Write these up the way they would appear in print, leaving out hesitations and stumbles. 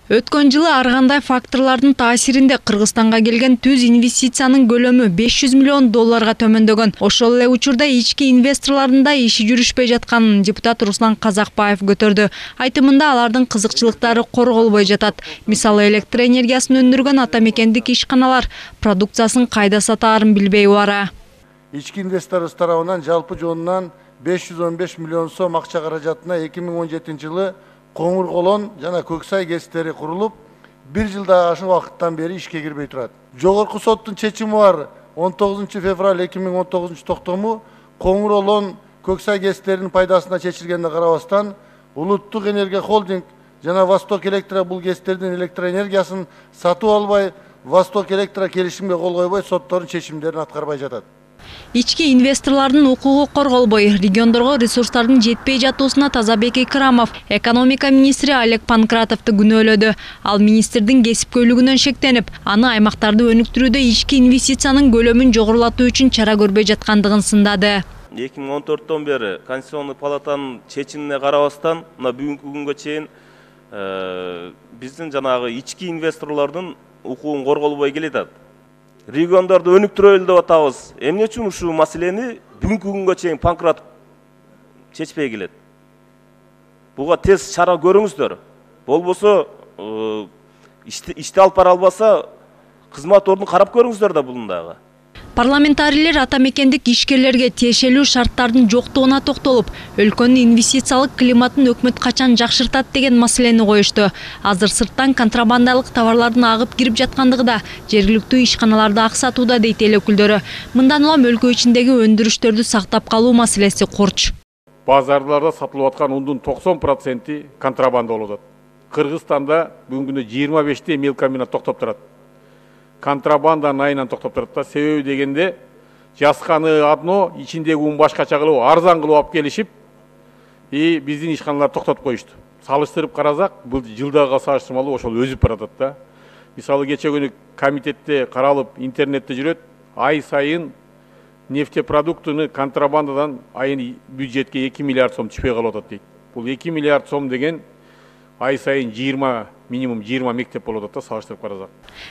Өткөн жылы ар кандай факторлордун таасиринде Кыргызстанга келген түз инвестициянын көлөмү $500 миллион төмөндөгөн. Ошол эле учурда ички инвесторлордун да иши жүрүшпөй жатканын депутат Руслан Казакбаев көтөрдү. Айтымында алардын кызыкчылыктары корголбой жатат. Мисалы, электр энергиясын өндүргөн ата мекендик ишканалар продукциясын кайда сатаарын билбей убара. Ички инвесторлор тарабынан жалпы жонунан 515 миллион сом акча каражатына 2017 жылы Коңур Колон жана Көксай ГЭСтери курулуп, 1 жылдан ашык убакыттан бери ишке кирбей турат. Жогорку соттун чечими бар 19 февраль 2019 токтому Коңур Колон Көксай ГЭСтеринин пайдасына чечилгенде карабастан, Улуттук энергия холдинг жана Восток Электро бул ГЭСтердин электроэнергиясын сатып албай, Восток Электро келишимге кол койбой, соттордун чечимдерин аткарбай жатат. Ички инвесторлордун укугу корголбой, региондорго ресурстардын жетпей жатуусуна Тазабек Икрамов экономика министри Олег Панкратовду күнөөлөдү. Ал министрдин кесипкөйлүгүнөн шектенип, аны аймактарды өнүктүрүүдө ички инвестициянын көлөмүн жогорулатуу үчүн чара көрбөй жаткандыгын сындады. 2014 бери Конституционный палатанын чечимине карабастан, мына бүгүнкү күнгө чейин биздин жанагы ички инвесторлордун укугун корголбой келатат. Региондарды өнүктүрөлү деп атабыз. Эмне үчүн ушул маселени бүгүнкү күнгө чейин Панкратов чечпей келет? Буга тез чара көрүңүздөр. Болбосо ишти алып бара албаса, кызмат ордун карап көрүңүздөр да булундагы. Парламентарийлер ата мекендик ишкерлерге тиешелүү шарттардын жоктугуна токтолуп, өлкөнүн инвестициялык климатын өкмөт качан жакшыртат деген маселени коюшту. Азыр сырттан контрабандалык товарлардын агып кирип жаткандыгы да жергиликтүү ишканаларды аксатууда дейт эл өкүлдөрү. Мындан улам өлкө ичиндеги өндүрүштөрдү сактап калуу маселеси корч. Базарларда сатылып аткан ундун 90% контрабанда болуп атат. Кыргызстанда бүгүнкү күндө 25 мелкомбинат токтоп турат. Контрабанданын айынан токтоп турат да. Себеби дегенде жасканы одно, ичиндеги ун башкача кылып, арзан кылып алып келишип, биздин ишканалар токтотуп коюшту. Салыштырып карасак, бул жылдагыга салыштырмалуу ошол өсүп баратат да. Мисалы кече күнү комитетте каралып, интернетте жүрөт, ай сайын нефтепродуктуну контрабандадан айын бюджетке 2 миллиард сом түшпөй калып атат дейт. Бул 2 миллиард сом деген ай сайын минимум 20 мектеп болуп атат да, салыштырып карасак.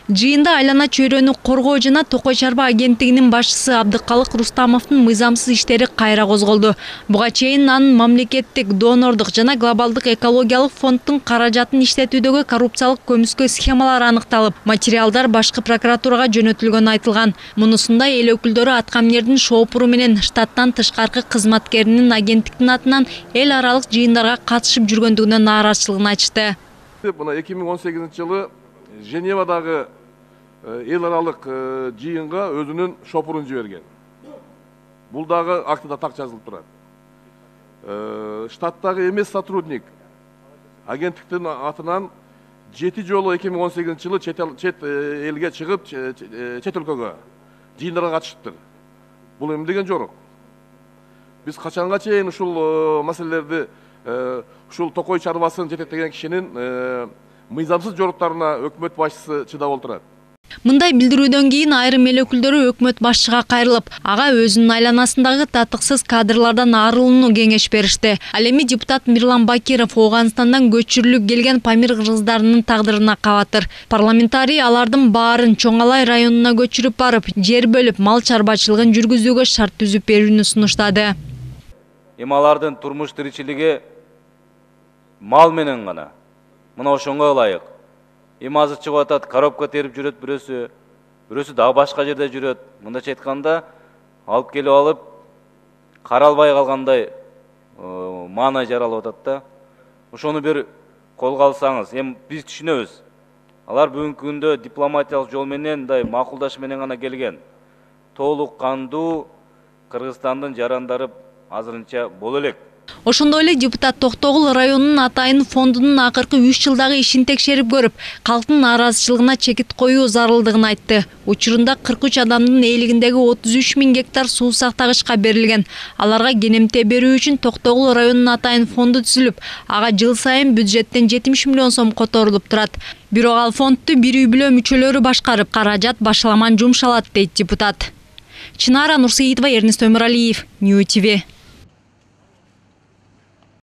Жыйында айлана чөйрөнү коргоо жана Токой чарба агенттигинин башчысы Абдыкалык Рустамовдун мыйзамсыз иштери кайра козголду. Буга чейин анын мамлекеттик, донордук жана глобалдык экологиялык фонддун каражатын иштетүүдөгү коррупциялык көмүскө схемалары аныкталып, материалдар башкы прокуратурага жөнөтүлгөнү айтылган. Мунусунда эл өкүлдөрү Аткаминердин шоопуру менен штаттан тышкаркы кызматкеринин агенттиктин атынан эл аралык жыйындарга катышып жүргөндүгүнө нааразычылыгын айтышты. Мына 2018 жылы Женевадагы эл аралык жыйынга өзүнүн шопурун жиберген. Бул дагы актыда так жазылып турат. Штаттагы эмес сотрудник агенттиктин атынан 7 жолу 2018 жылы чет элге чыгып, чет өлкөгө жыйындарга катышыптыр. Бул эме деген жорок. Биз качанга чейин ушул маселелерди ушул Токой чарбасын жетектеген кишинин мыйзамсыз жоруктарына өкмөт башчысы чыдап отурат. Мындай билдирүүдөн кийин айрым эл өкүлдөрү өкмөт башчыга кайрылып, ага өзүнүн айланасындагы татыксыз кадрlardan арылууну кеңеш беришти. Ал эми депутат Мирлан Бакиров Ооганстандан көчүрүлүп келген Памир кыргыздарынын тагдырына кабатыр. Парламентарий алардын баарын Чоң Алай районуна көчүрүп барып, жер бөлүп, мал чарбачылыгын жүргүзүүгө шарт түзүп берүүнү сунуштады. Эми алардын турмуш тиричилиги мал менен гана. Мына ошонго ылайык. Эми азыр чыгып атат, коробка терип жүрөт бирөөсү дагы башка жерде жүрөт. Мындайча айтканда, алып келип алып, каралбай калгандай маанай жаралып атат да. Ошону бир колго алсаңыз, эми биз түшүнөбүз. Алар бүгүнкү күндө дипломатиялык жол менен, мындай макулдаш менен гана келген. Толук кандуу Кыргызстандын жарандары азырынча боло элек. Ошондой эле депутат Токтогул районунун атайын фондунун акыркы 3 жылдагы ишин текшерип көрүп, калктын нааразычылыгына чекит коюу зарылдыгын айтты. Учурунда 43 адамдын ээлигиндеги 33 000 гектар суу сактагычка берилген. Аларга кенемте берүү үчүн Токтогул районунун атайын фонду түзүлүп, ага жыл сайын бюджеттен 70 миллион сом которулуп турат. Бирок ал фондду бир үй бүлө мүчөлөрү башкарып, каражат башаламан жумшалат дейт депутат. Чынара Нурсеитова, Эрнест Өмүралиев, Нью ТВ.